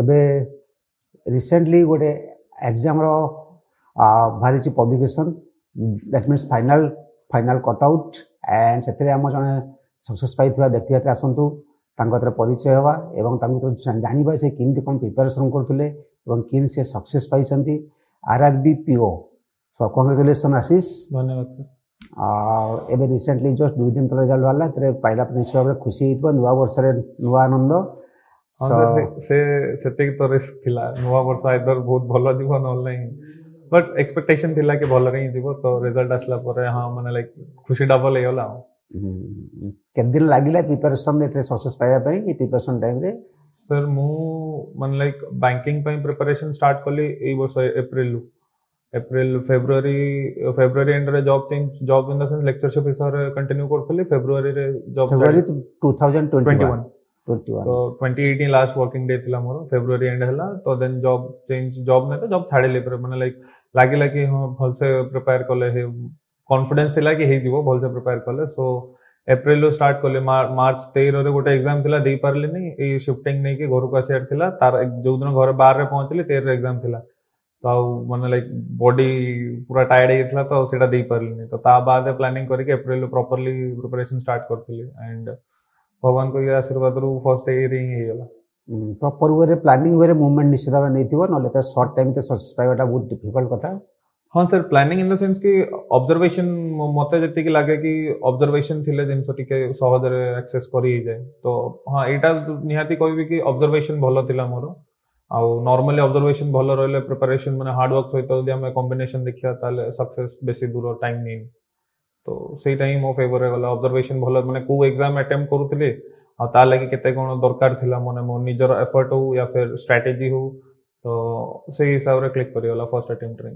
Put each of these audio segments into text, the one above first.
ଏବେ ରିସେଣ୍ଟଲି ଗୋଟେ ଏକ୍ଜାମ୍ର ବାହାରିଛି publication, that means final cut out, and ସେଥିରେ ଆମ ଜଣେ ସକ୍ସେସ୍ ପାଇଥିବା ବ୍ୟକ୍ତି ହାତରେ ଆସନ୍ତୁ, ତାଙ୍କ ହାତରେ ପରିଚୟ ହେବା ଏବଂ ତାଙ୍କ ଭିତରେ ଜାଣିବା ସେ କେମିତି କ'ଣ ପ୍ରିପାରେସନ୍ କରୁଥିଲେ ଏବଂ କେମିତି ସେ ସକ୍ସେସ୍ ପାଇଛନ୍ତି R R B P O. So congratulation Ashish. ଧନ୍ୟବାଦ ସାର୍। ଆଉ ଏବେ ରିସେଣ୍ଟଲି ଜଷ୍ଟ 2 ଦିନ ତଳେ ରେଜଲ୍ଟ ବାହାରିଲା। ଏଥିରେ ପାଇଲା ପରେ ନିଶ୍ଚୟ ଭାବରେ ଖୁସି ହେଇଥିବ। ନୂଆ ବର୍ଷରେ ନୂଆ ଆନନ୍ଦ। ହଁ ସାର୍, ସେ ସେତିକି ତ ରିସ୍କ ଥିଲା। ନୂଆ ବର୍ଷ ଆଇଦର ବହୁତ ଭଲ ଯିବ, ନହେଲେ ନାହିଁ, ବଟ୍ ଏକ୍ସପେକ୍ଟେସନ ଥିଲା କି ଭଲରେ ହିଁ ଯିବ। ତ ରେଜଲ୍ଟ ଆସିଲା ପରେ ହଁ, ମାନେ ଲାଇକ୍ ଖୁସି ଡବଲ ହେଇଗଲା ଆଉ। କେତେ ଦିନ ଲାଗିଲା ପ୍ରିପାରେସନ୍ ଏଥିରେ ସକ୍ସେସ୍ ପାଇବା ପାଇଁ, ଏ ପ୍ରିପାରେସନ୍ ଟାଇମ୍ରେ? ସାର୍, ମୁଁ ମାନେ ଲାଇକ୍ ବ୍ୟାଙ୍କିଙ୍ଗ ପାଇଁ ପ୍ରିପାରେସନ୍ ଷ୍ଟାର୍ଟ କଲି ଏଇ ବର୍ଷ ଏପ୍ରିଲରୁ। ଏପ୍ରିଲ, ଫେବୃଆରୀ, ଫେବୃଆରୀ ଏଣ୍ଡରେ job change, job in the sense lectureship ହିସାବରେ କଣ୍ଟିନ୍ୟୁ କରୁଥିଲି। ଫେବୃଆରୀରେ ଜବ୍ ଫେବୃଆରୀ 2021? 21। 21। ତ 2018 ଲାଷ୍ଟ ୱାର୍କିଂ ଡେ ଥିଲା ମୋର। ଫେବୃଆରୀ ଏଣ୍ଡ ହେଲା ତ ଦେନ୍ ଜବ୍ ଚେଞ୍ଜ, ଜବ୍ ନାହିଁ ତ ଜବ୍ ଛାଡ଼ିଲି। ପରେ ମାନେ ଲାଇକ୍ ଲାଗିଲା କି ହଁ, ଭଲସେ ପ୍ରିପେୟାର କଲେ, କନଫିଡେନ୍ସ ଥିଲା କି ହେଇଯିବ ଭଲସେ ପ୍ରିପେୟାର କଲେ। ସୋ ଏପ୍ରିଲରୁ ଷ୍ଟାର୍ଟ କଲି। ମାର୍ଚ୍ଚ 13ରେ ଗୋଟେ ଏକ୍ଜାମ ଥିଲା, ଦେଇପାରିଲିନି। ଏଇ ସିଫ୍ଟିଂ ନେଇକି ଘରକୁ ଆସିବାର ଥିଲା। ତାର ଯୋଉଦିନ ଘରେ 12ରେ ପହଞ୍ଚିଲି, 13ରେ ଏକ୍ଜାମ ଥିଲା। ତ ଆଉ ମାନେ ଲାଇକ୍ ବଡି ପୁରା ଟାୟାର୍ଡ ହେଇଯାଇଥିଲା, ତ ସେଇଟା ଦେଇପାରିଲିନି। ତ ତା ବାଦେ ପ୍ଲାନିଂ କରିକି ଏପ୍ରିଲରୁ ପ୍ରପରଲି ପ୍ରିପାରେସନ ଷ୍ଟାର୍ଟ କରିଥିଲି ଆଣ୍ଡ ଭଗବାନଙ୍କ ଇଏ ଆଶୀର୍ବାଦରୁ ଫର୍ଷ୍ଟ ଇୟର ହିଁ ହେଇଗଲା। ପ୍ରପର ୱେରେ, ପ୍ଲାନିଂ ୱେରେ ମୁଭମେଣ୍ଟ ନିଶ୍ଚିତ ଭାବରେ ନେଇଥିବ, ନହେଲେ ତ ସର୍ଟ ଟାଇମ୍ ତ ସକ୍ସେସ୍ ପାଇବାଟା ବହୁତ ଡିଫିକଲ୍ଟ କଥା। ହଁ sir, planning in the sense କି ଅବଜରଭେସନ। ମତେ ଯେତିକି ଲାଗେ କି ଅବଜରଭେସନ ଥିଲେ ଜିନିଷ ଟିକେ ସହଜରେ ଆକ୍ସେସ୍ କରି ହେଇଯାଏ। ତ ହଁ, ଏଇଟା ନିହାତି କହିବି କି ଅବଜରଭେସନ ଭଲ ଥିଲା ମୋର। ଆଉ ନର୍ମାଲି ଅବଜରଭେସନ ଭଲ ରହିଲେ, ପ୍ରିପାରେସନ ମାନେ ହାର୍ଡୱାର୍କ ସହିତ ଯଦି ଆମେ କମ୍ବିନେସନ ଦେଖିବା, ତାହେଲେ ସକ୍ସେସ୍ ବେଶୀ ଦୂର ଟାଇମ୍ ନିଏନି। ତ ସେଇଟା ହିଁ ମୋ ଫେଭରରେ ଗଲା। ଅବଜରଭେସନ ଭଲ, ମାନେ କୋଉ ଏକ୍ଜାମ ଆଟେମ୍ପ୍ଟ କରୁଥିଲି ଆଉ ତା ଲାଗି କେତେ କ'ଣ ଦରକାର ଥିଲା, ମାନେ ମୋ ନିଜର ଏଫର୍ଟ ହଉ ୟା ଫିର ଷ୍ଟ୍ରାଟେଜି ହଉ, ତ ସେଇ ହିସାବରେ କ୍ଲିକ୍ କରିଗଲା ଫର୍ଷ୍ଟ ଆଟେମ୍ପ୍ଟରେ।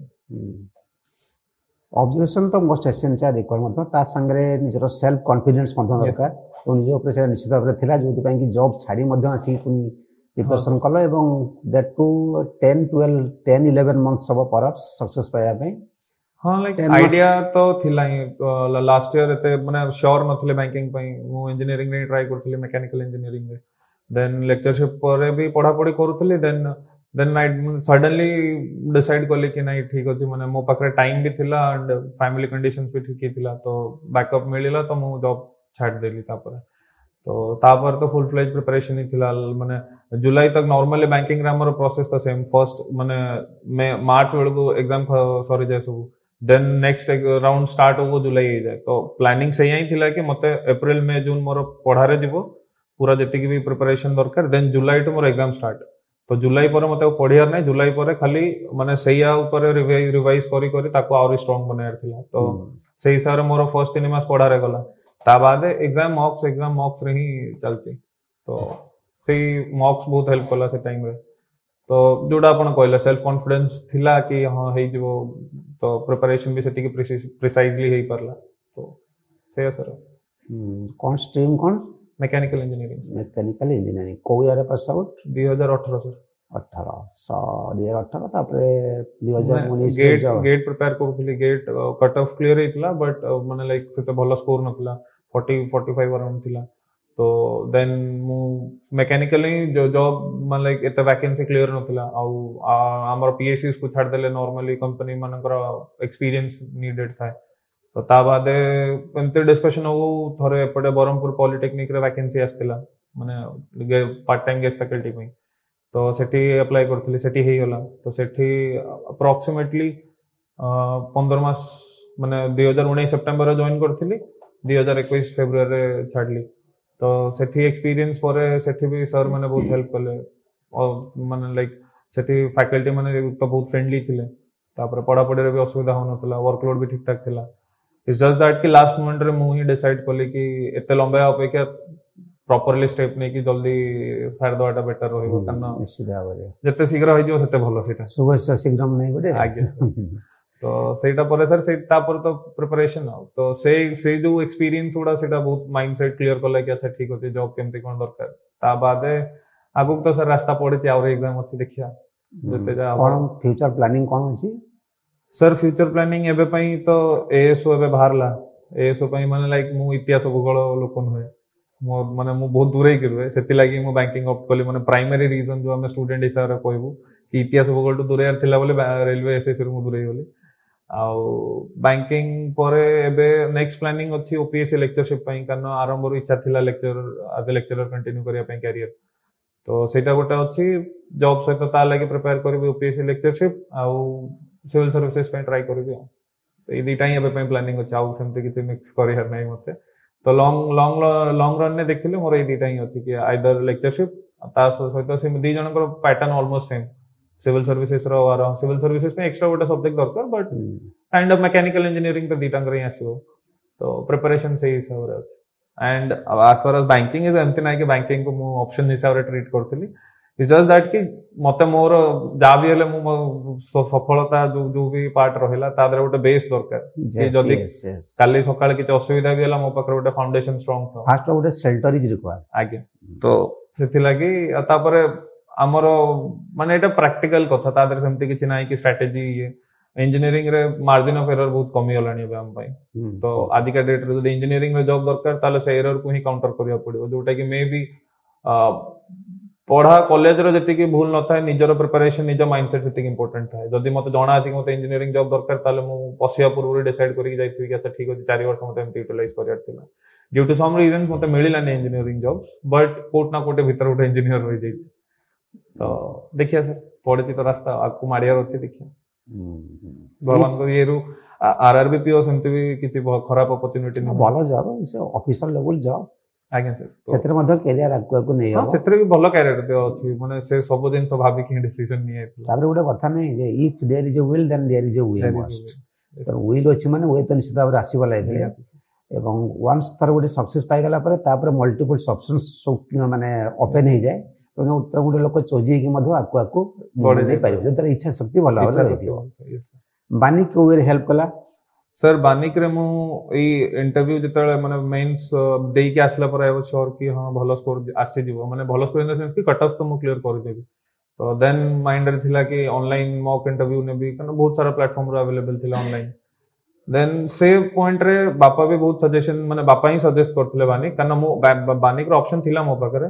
ଅବଜରଭେସନ ତ ମୋଷ୍ଟ ଏସେନ୍ସିଆଲ ରିକ୍ୱାୟାର୍ଡ ମଧ୍ୟ। ତା ସାଙ୍ଗରେ ନିଜର ସେଲ୍ଫ କନଫିଡେନ୍ସ ମଧ୍ୟ ଦରକାର। ତ ନିଜ ଉପରେ ସେଇଟା ନିଶ୍ଚିତ ଭାବରେ ଥିଲା, ଯେଉଁଥିପାଇଁ କି ଜବ୍ ଛାଡ଼ି ମଧ୍ୟ ଆସିକି ପୁଣି ପ୍ରିପାରେସନ୍ କଲ ଏବଂ that too 10, 12, 10, 11 months ହବ ପରପ୍ସ ସକ୍ସେସ୍ ପାଇବା ପାଇଁ। ହଁ, ଲାଇକ୍ 10 months. Idea ତ ଥିଲା ହିଁ। ଲାଷ୍ଟ ଇୟର ଏତେ ମାନେ ସିଓର ନଥିଲେ ବ୍ୟାଙ୍କିଙ୍ଗ ପାଇଁ। ମୁଁ ଇଞ୍ଜିନିୟରିଂରେ ଟ୍ରାଏ କରୁଥିଲି, ମେକାନିକାଲ ଇଞ୍ଜିନିୟରିଂରେ। ଦେନ୍ ଲେକ୍ଚରସିପ୍ ପରେ ବି ପଢ଼ାପଢ଼ି କରୁଥିଲି। ଦେନ୍ I suddenly decide କଲି କି ନାଇଁ, ଠିକ୍ ଅଛି। ମାନେ ମୋ ପାଖରେ ଟାଇମ୍ ବି ଥିଲା ଆଣ୍ଡ ଫ୍ୟାମିଲି କଣ୍ଡିସନ୍ସ ବି ଠିକ୍ ଥିଲା, ତ ବ୍ୟାକଅପ୍ ମିଳିଲା, ତ ମୁଁ ଜବ୍ ଛାଡ଼ିଦେଲି ତାପରେ। ତ ତାପରେ ତ ଫୁଲ୍ ଫ୍ଲେଜ୍ ପ୍ରିପାରେସନ୍ ହିଁ ଥିଲା। ମାନେ ଜୁଲାଇ ତକ ନର୍ମାଲି ବ୍ୟାଙ୍କିଂରେ ଆମର ପ୍ରୋସେସ୍ ତ ସେମ୍। ଫର୍ଷ୍ଟ ମାନେ ମେ ମାର୍ଚ୍ଚ ବେଳକୁ ଏକ୍ଜାମ ସରିଯାଏ ସବୁ, ଦେନ୍ ନେକ୍ସଟ ରାଉଣ୍ଡ ଷ୍ଟାର୍ଟ ହବ ଜୁଲାଇ ହେଇଯାଏ। ତ ପ୍ଲାନିଂ ସେଇଆ ହିଁ ଥିଲା କି ମତେ ଏପ୍ରିଲ, ମେ, ଜୁନ୍ ମୋର ପଢ଼ାରେ ଯିବ ପୁରା, ଯେତିକି ବି ପ୍ରିପାରେସନ୍ ଦରକାର। ଦେନ୍ ଜୁଲାଇଠୁ ମୋର ଏକ୍ଜାମ ଷ୍ଟାର୍ଟ। ତ ଜୁଲାଇ ପରେ ମତେ ଆଉ ପଢ଼ିବାର ନାହିଁ। ଜୁଲାଇ ପରେ ଖାଲି ମାନେ ସେଇଆ ଉପରେ ରିଭାଇଜ କରି କରି ତାକୁ ଆହୁରି ଷ୍ଟ୍ରଙ୍ଗ ବନେଇବାର ଥିଲା। ତ ସେଇ ହିସାବରେ ମୋର ଫର୍ଷ୍ଟ 3 ମାସ ପଢ଼ାରେ ଗଲା। ତା ବାଦେ ଏକ୍ଜାମ, ମକ୍ସ, ଏକ୍ଜାମ, ମକ୍ସରେ ହିଁ ଚାଲିଛି। ତ ସେଇ ମକ୍ସ ବହୁତ ହେଲ୍ପ କଲା ସେ ଟାଇମରେ। ତ ଯୋଉଟା ଆପଣ କହିଲେ, ସେଲ୍ଫ କନଫିଡେନ୍ସ ଥିଲା କି ହଁ, ହେଇଯିବ, ତ ପ୍ରିପାରେସନ ବି ସେତିକି ପ୍ରିସାଇଜଲି ହେଇପାରିଲା। ତ ସେଇଆ ସାର୍। କ'ଣ ଷ୍ଟ୍ରିମ୍ କ'ଣ? Mechanical engineering. Mechanical engineering. କୋଉ ଇୟରରେ ପାସ୍ ଆଉଟ୍? 2018 ସାର୍। 18, 2018। ତାପରେ 2019 ଗେଟ୍, ଗେଟ୍ ପ୍ରିପେୟାର କରୁଥିଲି। ଗେଟ୍ କଟ୍ ଅଫ୍ କ୍ଲିୟର ହେଇଥିଲା, ବଟ୍ ମାନେ ଲାଇକ୍ ସେତେ ଭଲ ସ୍କୋର ନଥିଲା, 40, 45 ଅରାଉଣ୍ଡ ଥିଲା। ତ ଦେନ୍ ମୁଁ ମେକାନିକାଲ ହିଁ ଜବ୍, ମାନେ ଲାଇକ୍ ଏତେ ଭ୍ୟାକେନ୍ସି କ୍ଲିୟର ନଥିଲା। ଆଉ ଆମର ପିଏସୟୁସ୍ କୁ ଛାଡ଼ିଦେଲେ ନର୍ମାଲି କମ୍ପାନୀ ମାନଙ୍କର ଏକ୍ସପିରିଏନ୍ସ ନିଡେଡ୍ ଥାଏ। ତ ତା ବାଦେ ଏମିତି ଡିସ୍କସନ୍ ହଉ ଥରେ ଏପଟେ ବ୍ରହ୍ମପୁର ପଲିଟେକ୍ନିକରେ ଭ୍ୟାକେନ୍ସି ଆସିଥିଲା, ମାନେ ପାର୍ଟ ଟାଇମ୍ ଗେଷ୍ଟ ଫ୍ୟାକଲ୍ଟି ପାଇଁ। ତ ସେଠି ଆପ୍ଲାଏ କରିଥିଲି, ସେଠି ହେଇଗଲା। ତ ସେଠି ଆପ୍ରକ୍ସିମେଟଲି 15 ମାସ, ମାନେ 2019 ସେପ୍ଟେମ୍ବରରେ ଜଏନ୍ କରିଥିଲି, 2021 ଫେବୃଆରୀରେ ଛାଡ଼ିଲି। ତ ସେଠି ଏକ୍ସପିରିଏନ୍ସ ପରେ ସେଠି ବି ସାର୍ ମାନେ ବହୁତ ହେଲ୍ପ କଲେ। ଆଉ ମାନେ ଲାଇକ୍ ସେଠି ଫ୍ୟାକଲ୍ଟି ମାନେ ତ ବହୁତ ଫ୍ରେଣ୍ଡଲି ଥିଲେ। ତାପରେ ପଢ଼ାପଢ଼ିରେ ବି ଅସୁବିଧା ହେଉନଥିଲା, ୱାର୍କଲୋଡ୍ ବି ଠିକ୍ ଠାକ୍ ଥିଲା। It's just that କି ଲାଷ୍ଟ ମୋମେଣ୍ଟରେ ମୁଁ ହିଁ ଡିସାଇଡ୍ କଲି କି ଏତେ ଲମ୍ବା ଅପେକ୍ଷା ପ୍ରପରଲି ଷ୍ଟେପ୍ ନେଇକି ଜଲ୍ଦି ସାରିଦେବାଟା ବେଟର ରହିବ, କାରଣ ନିଶ୍ଚିତ ଭାବରେ ଯେତେ ଶୀଘ୍ର ହେଇଯିବ ସେତେ ଭଲ ସେଇଟା। ଶୁଭସ୍ୟ ଶୀଘ୍ରମ ନାହିଁ ଗୋଟେ? ଆଜ୍ଞା। ତ ସେଇଟା ପରେ ସାର୍, ସେଇ ତାପରେ ତ ପ୍ରିପାରେସନ। ଆଉ ତ ସେଇ ଯୋଉ ଏକ୍ସପିରିଏନ୍ସ ଗୁଡା, ସେଇଟା ବହୁତ ମାଇଣ୍ଡ ସେଟ୍ କ୍ଲିୟର କଲା କି ଆଚ୍ଛା, ଠିକ ଅଛି, ଜବ୍ କେମିତି କ'ଣ ଦରକାର। ତା ବାଦେ ଆଗକୁ ତ ସାର୍ ରାସ୍ତା ପଡିଛି, ଆହୁରି ଏକ୍ଜାମ ଅଛି, ଦେଖିବା ଯେତେ ଯାହା ହବ। କ'ଣ ଫ୍ୟୁଚର ପ୍ଲାନିଂ କ'ଣ ଅଛି? ସାର୍, ଫ୍ୟୁଚର ପ୍ଲାନିଂ ଏବେ ପାଇଁ ତ ଏଏସଓ ଏବେ ବାହାରିଲା। ଏଏସଓ ପାଇଁ ମାନେ ଲାଇକ୍ ମୁଁ ଇତିହାସ ଭୂଗୋଳ ଲୋକ ନୁହେଁ। ମୋ ମାନେ ମୁଁ ବହୁତ ଦୂରେଇକି ରୁହେ, ସେଥିଲାଗି ମୁଁ ବ୍ୟାଙ୍କିଂ ଅପ୍ଟ କଲି। ମାନେ ପ୍ରାଇମାରୀ ରିଜନ ଯୋଉ ଆମେ ଷ୍ଟୁଡେଣ୍ଟ ହିସାବରେ କହିବୁ କି ଇତିହାସ ଭୂଗୋଳଠୁ ଦୂରେଇବାର ଥିଲା ବୋଲି ରେଲୱେ ଏସ୍ଏସ୍ସି ରୁ ମୁଁ ଦୂରେଇ ଗଲି। ଆଉ ବ୍ୟାଙ୍କିଂ ପରେ ଏବେ ନେକ୍ସଟ ପ୍ଲାନିଂ ଅଛି ଓପିଏସସି ଲେକ୍ଚରସିପ୍ ପାଇଁ, କାରଣ ଆରମ୍ଭରୁ ଇଚ୍ଛା ଥିଲା ଲେକ୍ଚର ଆଜ୍ ଏ ଲେକ୍ଚରର କଣ୍ଟିନ୍ୟୁ କରିବା ପାଇଁ କ୍ୟାରିୟର। ତ ସେଇଟା ଗୋଟେ ଅଛି, ଜବ୍ ସହିତ ତା ଲାଗି ପ୍ରିପେୟାର କରିବି ଓପିଏସସି ଲେକ୍ଚରସିପ୍ ଆଉ ସିଭିଲ ସର୍ଭିସେସ୍ ପାଇଁ ଟ୍ରାଏ କରିବି। ଆଉ ଏଇ ଦିଟା ହିଁ ଏବେ ପାଇଁ ପ୍ଲାନିଂ ଅଛି, ଆଉ ସେମିତି କିଛି ମିକ୍ସ କରିବାର ନାହିଁ ମତେ। ତ ଲଙ୍ଗ ଲଙ୍ଗ ଲଙ୍ଗ ରନ୍ରେ ଦେଖିଲେ ମୋର ଏଇ ଦିଟା ହିଁ ଅଛି କି ଆଇଦର ଲେକ୍ଚରସିପ୍, ତା ସହିତ ସେ ଦି ଜଣଙ୍କର pattern almost same. Civil services ର ସିଭିଲ ସର୍ଭିସେସ୍ ପାଇଁ ଏକ୍ସଟ୍ରା ଗୋଟେ ସବଜେକ୍ଟ ଦରକାର, but kind of mechanical engineering ତ ଦିଟାଙ୍କର ହିଁ ଆସିବ। ତ ପ୍ରିପାରେସନ ସେଇ ହିସାବରେ ଅଛି। And as far as banking is, ଏମିତି ନାହିଁ କି ବ୍ୟାଙ୍କିଂକୁ ମୁଁ ଅପସନ୍ ହିସାବରେ ଟ୍ରିଟ୍ କରୁଥିଲି। It's just that କି ମତେ ମୋର ଯାହା ବି ହେଲେ ମୁଁ ମୋ ସଫଳତା ଯୋଉ ଯୋଉ ବି ପାର୍ଟ ରହିଲା, ତା ଦେହରେ ଗୋଟେ ବେସ୍ ଦରକାର କି ଯଦି କାଲି ସକାଳେ କିଛି ଅସୁବିଧା ବି ହେଲା, ମୋ ପାଖରେ ଗୋଟେ ଫାଉଣ୍ଡେସନ ଷ୍ଟ୍ରଙ୍ଗ ଥାଉ। ଫାଷ୍ଟ ଗୋଟେ ସେଲ୍ଟର is ରିକ୍ୱାୟାର୍ଡ। ଆଜ୍ଞା, ତ ସେଥିଲାଗି। ଆଉ ତାପରେ ଆମର ମାନେ ଏଇଟା ପ୍ରାକ୍ଟିକାଲ କଥା, ତା ଦେହରେ ସେମିତି କିଛି ନାହିଁ କି ଷ୍ଟ୍ରାଟେଜି ଇଏ। ଇଞ୍ଜିନିୟରିଂ ରେ ମାର୍ଜିନ ଅଫ ଏରର ବହୁତ କମିଗଲାଣି ଏବେ ଆମ ପାଇଁ। ତ ଆଜିକା ଡେଟ୍ରେ ଯଦି ଇଞ୍ଜିନିୟରିଂ ରେ ଜବ୍ ଦରକାର, ତାହେଲେ ସେ ଏରରକୁ ହିଁ କାଉଣ୍ଟର କରିବାକୁ ପଡିବ, ଯୋଉଟା କି ମେ ବି ପଢା କଲେଜର ଯେତିକି ଭୁଲ ନଥାଏ, ନିଜର ପ୍ରିପାରେସନ, ନିଜ ମାଇଣ୍ଡସେଟ୍ ସେତିକି ଇମ୍ପୋର୍ଟାଣ୍ଟ ଥାଏ। ଯଦି ମତେ ଜଣା ଅଛି କି ମତେ ଇଞ୍ଜିନିୟରିଂ ଜବ୍ ଦରକାର, ତାହେଲେ ମୁଁ ପଶିବା ପୂର୍ବରୁ ଡିସାଇଡ୍ କରିକି ଯାଇଥିବି କି ଆଚ୍ଛା ଠିକ ଅଛି, 4 ବର୍ଷ ମତେ ଏମିତି ୟୁଟିଲାଇଜ କରିବାର ଥିଲା। ଡ୍ୟୁ ଟୁ ସମ୍ ରିଜନ୍ସ ମତେ ମିଳିଲାନି ଇଞ୍ଜିନିୟରିଂ ଜବ୍, ବଟ୍ କୋଉଠି ନା କୋଉଠି ଭିତରେ ଗୋଟେ ଇଞ୍ଜିନିୟର ରହିଯାଇଛି। ତ ଦେଖିବା ସାର୍, ପଡିଛି ତ ରାସ୍ତା, ଆଗକୁ ମାଡ଼ିବାର ଅଛି, ଦେଖିବା ଭଗବାନଙ୍କ ଇଏରୁ। ଆର୍ ଆର୍ ବି ପିଓ ସେମିତି ବି କିଛି ଖରାପ ଅପରଚ୍ୟୁନିଟି ନୁହେଁ। ଭଲ ଜବ୍, ଅଫିସର ଲେଭେଲ ଜବ୍। ଆଜ୍ଞା ସାର୍। ସେଥିରେ ମଧ୍ୟ କ୍ୟାରିୟର ଆଗକୁ ଆଗକୁ ନେଇ ହଁ, ସେଥିରେ ବି ଭଲ କ୍ୟାରିୟର ଅଛି, ମାନେ ସେ ସବୁ ଜିନିଷ ଭାବିକି ହିଁ ଡିସିଜନ ନିଆଯାଇଥିଲା। ତାପରେ ଗୋଟେ କଥା ନାହିଁ ଯେ if there is a will, then there is a way must. Will ଅଛି ମାନେ we ତ ନିଶ୍ଚିତ ଭାବରେ ଆସିବ ଲାଇଫରେ। ଏବଂ ୱାନ୍ସ ଥର ଗୋଟେ ସକ୍ସେସ୍ ପାଇଗଲା ପରେ, ତାପରେ ମଲ୍ଟିପୁଲ୍ସ ଅପସନ୍ସ ସବୁ ମାନେ ଓପେନ୍ ହେଇଯାଏ। ତେଣୁ ଗୋଟେ ଲୋକ ଚୋଜି ହେଇକି ମଧ୍ୟ ଆଗକୁ ଆଗକୁ ବଢ଼େଇ ପାରିବ, ଯଦି ତାର ଇଚ୍ଛା ଶକ୍ତି ଭଲ ଭାବରେ ରହିଥିବ। ବାନିକ କୋଉ ୱେରେ ହେଲ୍ପ କଲା? ସାର୍, ବାନିକରେ ମୁଁ ଏଇ ଇଣ୍ଟରଭ୍ୟୁ ଯେତେବେଳେ ମାନେ ମେନ୍ସ ଦେଇକି ଆସିଲା ପରେ I was sure କି ହଁ, ଭଲ ସ୍କୋର ଆସିଯିବ, ମାନେ ଭଲ ସ୍କୋର ଇନ୍ the sense କି କଟ୍ ଅଫ୍ ତ ମୁଁ କ୍ଲିୟର କରିଦେବି। ତ ଦେନ୍ ମାଇଣ୍ଡରେ ଥିଲା କି ଅନଲାଇନ୍ ମକ୍ ଇଣ୍ଟରଭ୍ୟୁ ନେବି, କାରଣ ବହୁତ ସାରା ପ୍ଲାଟଫର୍ମରୁ ଆଭେଲେବଲ୍ ଥିଲା ଅନଲାଇନ୍। ଦେନ୍ ସେ ପଏଣ୍ଟରେ ବାପା ବି ବହୁତ ସଜେସନ, ମାନେ ବାପା ହିଁ ସଜେଷ୍ଟ କରିଥିଲେ ବାନିକ, କାରଣ ମୁଁ ବାନିକର ଅପସନ୍ ଥିଲା ମୋ ପାଖରେ,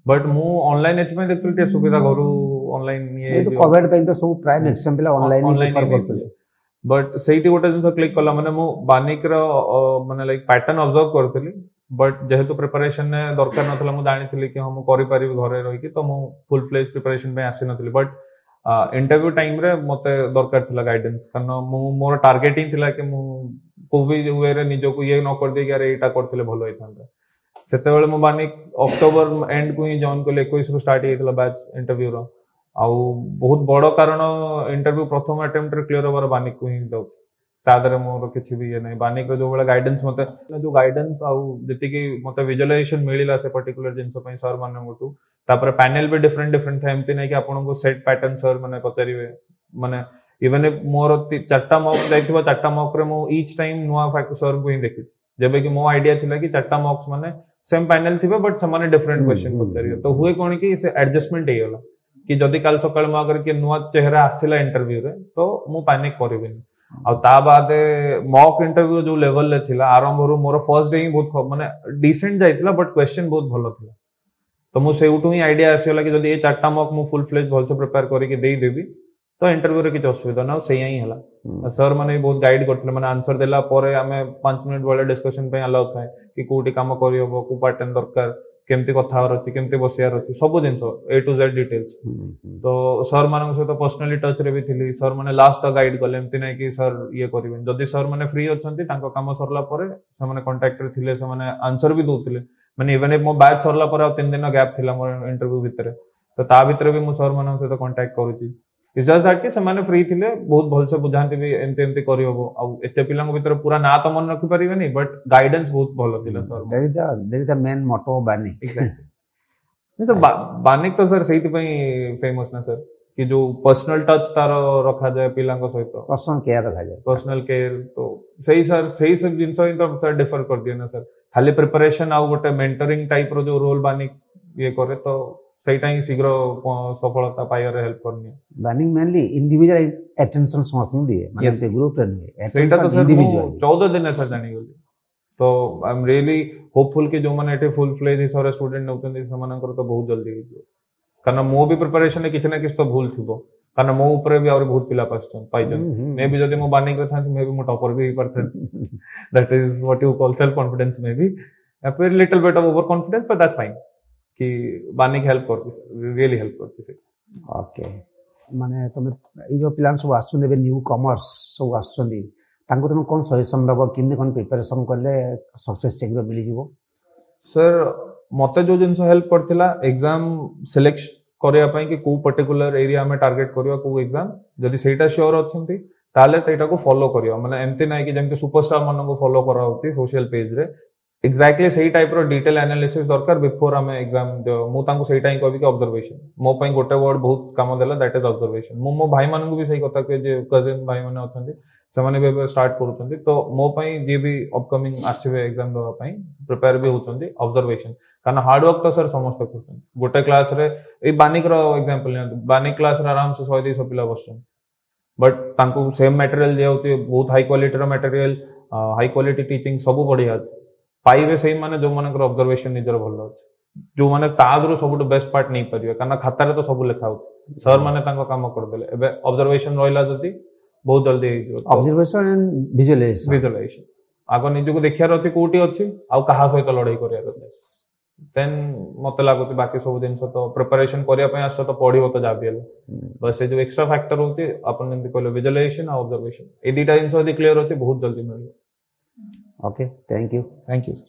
ବଟ୍ ମୁଁ ଅନଲାଇନ୍ ଏଥିପାଇଁ ଦେଖୁଥିଲି, ଟିକେ ସୁବିଧା ଘରୁ ଅନଲାଇନ୍। ଇଏ କୋଭିଡ ପାଇଁ ତ ସବୁ ପ୍ରାୟ ମ୍ୟାକ୍ସିମମ୍ ପିଲା ଅନଲାଇନ୍ ଅନଲାଇନ୍ କରୁଥିଲେ। ବଟ୍ ସେଇଠି ଗୋଟେ ଜିନିଷ କ୍ଲିକ୍ କଲା, ମାନେ ମୁଁ ବାନିକର ମାନେ ଲାଇକ୍ ପ୍ୟାଟର୍ନ ଅବଜର୍ଭ କରିଥିଲି, ବଟ୍ ଯେହେତୁ ପ୍ରିପାରେସନ ଦରକାର ନଥିଲା, ମୁଁ ଜାଣିଥିଲି କି ହଁ, ମୁଁ କରିପାରିବି ଘରେ ରହିକି, ତ ମୁଁ ଫୁଲ୍ ଫ୍ଲେଜ୍ ପ୍ରିପାରେସନ ପାଇଁ ଆସିନଥିଲି। ବଟ୍ ଇଣ୍ଟରଭ୍ୟୁ ଟାଇମ୍ରେ ମତେ ଦରକାର ଥିଲା ଗାଇଡେନ୍ସ, କାରଣ ମୁଁ ମୋର ଟାର୍ଗେଟ ହିଁ ଥିଲା କି ମୁଁ କୋଉ ବି ୱେରେ ନିଜକୁ ଇଏ ନ କରିଦେଇକି ଆରେ ଏଇଟା କରିଥିଲେ ଭଲ ହେଇଥାନ୍ତା। ସେତେବେଳେ ମୁଁ ବାନିକ ଅକ୍ଟୋବର ଏଣ୍ଡକୁ ହିଁ ଜଏନ୍ କଲି, 21ରୁ ଷ୍ଟାର୍ଟ ହେଇଯାଇଥିଲା ବ୍ୟାଚ୍ ଇଣ୍ଟରଭ୍ୟୁର। ଆଉ ବହୁତ ବଡ କାରଣ ଇଣ୍ଟରଭ୍ୟୁ ପ୍ରଥମ ଆଟେମ୍ପ୍ଟରେ କ୍ଲିୟର ହବାର ବାନିକକୁ ହିଁ ଯାଉଛି, ତା ଦେହରେ ମୋର କିଛି ବି ଇଏ ନାହିଁ। ବାନିକର ଯୋଉ ଭଳିଆ ଗାଇଡେନ୍ସ ମତେ, ଯୋଉ ଗାଇଡେନ୍ସ ଆଉ ଯେତିକି ମତେ ଭିଜୁଆଲାଇଜେସନ ମିଳିଲା ସେ ପର୍ଟିକୁଲାର ଜିନିଷ ପାଇଁ ସାର୍ ମାନଙ୍କଠୁ। ତାପରେ ପ୍ୟାନେଲ ବି ଡିଫରେଣ୍ଟ ଡିଫରେଣ୍ଟ ଥାଏ, ଏମିତି ନାହିଁ କି ଆପଣଙ୍କୁ ସେଟ୍ ପ୍ୟାଟର୍ନ ସାର୍ ମାନେ ପଚାରିବେ। ମାନେ ଇଭେନ୍ if ମୋର ଚାରିଟା ମକ୍ ଯାଇଥିବ, ଚାରିଟା ମକ୍ରେ ମୁଁ ଇଚ୍ ଟାଇମ୍ ନୂଆ ସାର୍ଙ୍କୁ ହିଁ ଦେଖିଛି। ଯେବେ କି ମୋ ଆଇଡିଆ ଥିଲା କି ଚାରିଟା ମକ୍ସ ମାନେ ସେମ୍ ପ୍ୟାନେଲ ଥିବେ, ବଟ୍ ସେମାନେ ଡିଫରେଣ୍ଟ କ୍ୱେଶ୍ଚନ ପଚାରିବେ। ତ ହୁଏ କଣ କି ସେ ଆଡଜଷ୍ଟମେଣ୍ଟ ହେଇଗଲା କି ଯଦି କାଲି ସକାଳେ ମୋ ଆଗରେ କିଏ ନୂଆ ଚେହେରା ଆସିଲା ଇଣ୍ଟରଭ୍ୟୁରେ, ତ ମୁଁ ପାନିକ କରିବିନି। ଆଉ ତା ବାଦେ ମକ୍ ଇଣ୍ଟରଭ୍ୟୁ ଯୋଉ ଲେଭେଲରେ ଥିଲା ଆରମ୍ଭରୁ, ମୋର ଫର୍ଷ୍ଟ ଡେ ହିଁ ବହୁତ ମାନେ ଡିସେଣ୍ଟ ଯାଇଥିଲା, ବଟ୍ କ୍ୱେଶ୍ଚନ ବହୁତ ଭଲ ଥିଲା। ତ ମୁଁ ସେଇଠୁ ହିଁ ଆଇଡିଆ ଆସିଗଲା କି ଯଦି ଏ ଚାରିଟା ମକ୍ ମୁଁ ଫୁଲ୍ ଫ୍ଲେଜ୍ ଭଲସେ ପ୍ରିପେୟାର କରିକି ଦେଇଦେବି, ତ ଇଣ୍ଟରଭ୍ୟୁରେ କିଛି ଅସୁବିଧା ନା। ଆଉ ସେଇଆ ହିଁ ହେଲା। ସାର୍ ମାନେ ବି ବହୁତ ଗାଇଡ୍ କରିଥିଲେ, ମାନେ ଆନ୍ସର ଦେଲା ପରେ ଆମେ 5 ମିନିଟ୍ ଭଳିଆ ଡିସ୍କସନ ପାଇଁ ଆଲାଉ ଥାଏ କି କୋଉଠି କାମ କରିହବ, କୋଉ ପାଟର୍ନ ଦରକାର, କେମିତି କଥା ହବାର ଅଛି, କେମିତି ବସିବାର ଅଛି, ସବୁ ଜିନିଷ ଏ ଟୁ ଜେଡ୍ ଡିଟେଲ୍ସ। ତ ସାର୍ ମାନଙ୍କ ସହିତ ପର୍ସନାଲି ଟଚ୍ ରେ ବି ଥିଲି। ସାର୍ ମାନେ ଲାଷ୍ଟ ଗାଇଡ୍ କଲେ, ଏମିତି ନାହିଁ କି ସାର୍ ଇଏ କରିବେନି। ଯଦି ସାର୍ ମାନେ ଫ୍ରି ଅଛନ୍ତି, ତାଙ୍କ କାମ ସରିଲା ପରେ ସେମାନେ କଣ୍ଟାକ୍ଟରେ ଥିଲେ, ସେମାନେ ଆନ୍ସର ବି ଦଉଥିଲେ। ମାନେ ଇଭେନ୍ ମୋ ବ୍ୟାଚ୍ ସରିଲା ପରେ ଆଉ 3 ଦିନ ଗ୍ୟାପ୍ ଥିଲା ମୋର ଇଣ୍ଟରଭ୍ୟୁ ଭିତରେ, ତ ତା ଭିତରେ ବି ମୁଁ ସାର୍ ମାନଙ୍କ ସହିତ କଣ୍ଟାକ୍ଟ କରୁଛି। It's just that କି ସେମାନେ ଫ୍ରି ଥିଲେ, ବହୁତ ଭଲସେ ବୁଝାନ୍ତି ବି, ଏମିତି ଏମିତି କରିହବ। ଆଉ ଏତେ ପିଲାଙ୍କ ଭିତରେ ପୁରା ନାଁ ତ ମନେ ରଖିପାରିବେନି, ବଟ୍ ଗାଇଡେନ୍ସ ବହୁତ ଭଲ ଥିଲା sir. That is the main motto, Banik. Exactly sir, Banik ତ ସାର୍ ସେଇଥିପାଇଁ ଫେମସ୍ ନା ସାର୍, କି ଯୋଉ ପର୍ସନାଲ ଟଚ୍ ତାର ରଖାଯାଏ ପିଲାଙ୍କ ସହିତ। ପର୍ସନାଲ କେୟାର ରଖାଯାଏ। ପର୍ସନାଲ କେୟାର ତ ସେଇ ସାର୍, ସେଇ ସବୁ ଜିନିଷ ହିଁ ତ ସାର୍ ଡିଫର କରିଦିଏ ନା ସାର୍। ଖାଲି ପ୍ରିପାରେସନ ଆଉ ଗୋଟେ ମେଣ୍ଟରିଂ ଟାଇପ ର ଯୋଉ ରୋଲ ବାନିକ ଇଏ କରେ, ତ ସେଇଟା ହିଁ ଶୀଘ୍ର ସଫଳତା ପାଇବାରେ ହେଲ୍ପ କରିନିଏ। ବାନିକ ମେନଲି ଇଣ୍ଡିଭିଜୁଆଲ ଆଟେନସନ ସମସ୍ତଙ୍କୁ ଦିଏ, ମାନେ ସେ ଗ୍ରୁପରେ ନୁହେଁ। ସେଇଟା ତ ସାର୍ ମୁଁ 14 ଦିନରେ ସାର୍ ଜାଣିଗଲି। ତ I M really ହୋପଫୁଲ୍ କି ଯୋଉମାନେ ଏଠି ଫୁଲ୍ ଫ୍ଲେଜ୍ ହିସାବରେ ଷ୍ଟୁଡେଣ୍ଟ ନେଉଛନ୍ତି, ସେମାନଙ୍କର ତ ବହୁତ ଜଲ୍ଦି ହେଇଯିବ। କାରଣ ମୋ ବି ପ୍ରିପାରେସନରେ କିଛି ନା କିଛି ତ ଭୁଲ ଥିବ, କାରଣ ମୋ ଉପରେ ବି ଆହୁରି ବହୁତ ପିଲା ପାଇଛନ୍ତି। ମେ ବି ଯଦି ମୁଁ ବାନିକରେ ଥାନ୍ତି, ମେ ବି ମୁଁ ଟପର ବି ହେଇପାରିଥାନ୍ତି। That is what you call self confidence, maybe a little bit of over confidence, but that's fine କି ବାନିକ ହେଲ୍ପ କରୁଛି, ରିଏଲି ହେଲ୍ପ କରୁଛି ସେଇଟା। ଓକେ, ମାନେ ତମେ ଏଇ ଯୋଉ ପିଲାମାନେ ସବୁ ଆସୁଛନ୍ତି ଏବେ, ନ୍ୟୁ କମର୍ସ ସବୁ ଆସୁଛନ୍ତି, ତାଙ୍କୁ ତମେ କ'ଣ ସଜେସନ୍ ଦେବ, କେମିତି କ'ଣ ପ୍ରିପାରେସନ୍ କଲେ ସକ୍ସେସ୍ ଶୀଘ୍ର ମିଳିଯିବ? ସାର୍, ମତେ ଯୋଉ ଜିନିଷ ହେଲ୍ପ କରିଥିଲା ଏକ୍ଜାମ ସିଲେକ୍ଟ କରିବା ପାଇଁ କି କୋଉ ପର୍ଟିକୁଲାର ଏରିଆ ଆମେ ଟାର୍ଗେଟ କରିବା, କୋଉ ଏକ୍ଜାମ, ଯଦି ସେଇଟା ସିଓର ଅଛନ୍ତି ତାହେଲେ ସେଇଟାକୁ ଫଲୋ କରିବା। ମାନେ ଏମିତି ନାହିଁ କି ଯେମିତି ସୁପରଷ୍ଟାର ମାନଙ୍କୁ ଫଲୋ କରାହଉଛି ସୋସିଆଲ ପେଜରେ, ଏକ୍ଜାକ୍ଟଲି ସେଇ ଟାଇପର ଡିଟେଲ ଆନାଲିସିସ୍ ଦରକାର ବିଫୋର ଆମେ ଏକ୍ଜାମ। ମୁଁ ତାଙ୍କୁ ସେଇଟା ହିଁ କହିବି କି ଅବଜରଭେସନ। ମୋ ପାଇଁ ଗୋଟେ ୱାର୍ଡ ବହୁତ କାମ ଦେଲା, that is observation. ମୁଁ ମୋ ଭାଇମାନଙ୍କୁ ବି ସେଇ କଥା କୁହେ, ଯେ କଜିନ୍ ଭାଇମାନେ ଅଛନ୍ତି, ସେମାନେ ବି ଏବେ ଷ୍ଟାର୍ଟ କରୁଛନ୍ତି। ତ ମୋ ପାଇଁ ଯିଏ ବି ଅପକମିଂ ଆସିବେ ଏକ୍ଜାମ ଦେବା ପାଇଁ, ପ୍ରିପେୟାର ବି ହଉଛନ୍ତି, ଅବଜରଭେସନ। କାରଣ ହାର୍ଡୱାର୍କ ତ ସାର୍ ସମସ୍ତେ କରୁଛନ୍ତି। ଗୋଟେ କ୍ଲାସରେ, ଏଇ ବାନିକର ଏକ୍ଜାମ୍ପଲ ନିଅନ୍ତୁ, ବାନିକ କ୍ଲାସରେ ଆରାମସେ 100-200 ପିଲା ବସୁଛନ୍ତି, ବଟ୍ ତାଙ୍କୁ ସେମ୍ ମ୍ୟାଟେରିଆଲ ଦିଆହଉଛି, ବହୁତ ହାଇ କ୍ୱାଲିଟିର ମ୍ୟାଟେରିଆଲ, ହାଇ କ୍ୱାଲିଟି ଟିଚିଂ, ସବୁ ବଢିଆ ଅଛି। ପାଇବେ ସେଇମାନେ ଯୋଉମାନଙ୍କର ଅବଜରଭେସନ ନିଜର ଭଲ ଅଛି, ଯୋଉମାନେ ତା ଦେହରୁ ସବୁଠୁ ବେଷ୍ଟ ପାର୍ଟ ନେଇପାରିବେ। କାରଣ ଖାତାରେ ତ ସବୁ ଲେଖା ହଉଛି, ସାର୍ ମାନେ ତାଙ୍କ କାମ କରିଦେଲେ, ଏବେ ଅବଜରଭେସନ ରହିଲା ଯଦି ବହୁତ ଜଲ୍ଦି ହେଇଯିବ। Observation and visualisation. Visualisation. ଆଗ ନିଜକୁ ଦେଖିବାର ଅଛି କୋଉଠି ଅଛି ଆଉ କାହା ସହିତ ଲଢେଇ କରିବାର ଅଛି। ଦେନ୍ ମତେ ଲାଗୁଛି ବାକି ସବୁ ଜିନିଷ ତ ପ୍ରିପାରେସନ କରିବା ପାଇଁ ଆସୁଛ ତ ପଢିବ ତ ଯାହା ବି ହେଲେ। ବାସ୍, ସେ ଯୋଉ ଏକ୍ସଟ୍ରା ଫ୍ୟାକ୍ଟର ହଉଛି, ଆପଣ ଯେମିତି କହିଲେ, ଭିଜୁଆଲାଇଜେସନ ଆଉ ଅବଜରଭେସନ, ଏଇ ଦିଟା ଜିନିଷ ଯଦି କ୍ଲିୟର ଅଛି, ବହୁତ ଜଲ୍ଦି ମିଳିବ। Okay, thank you. Thank you sir.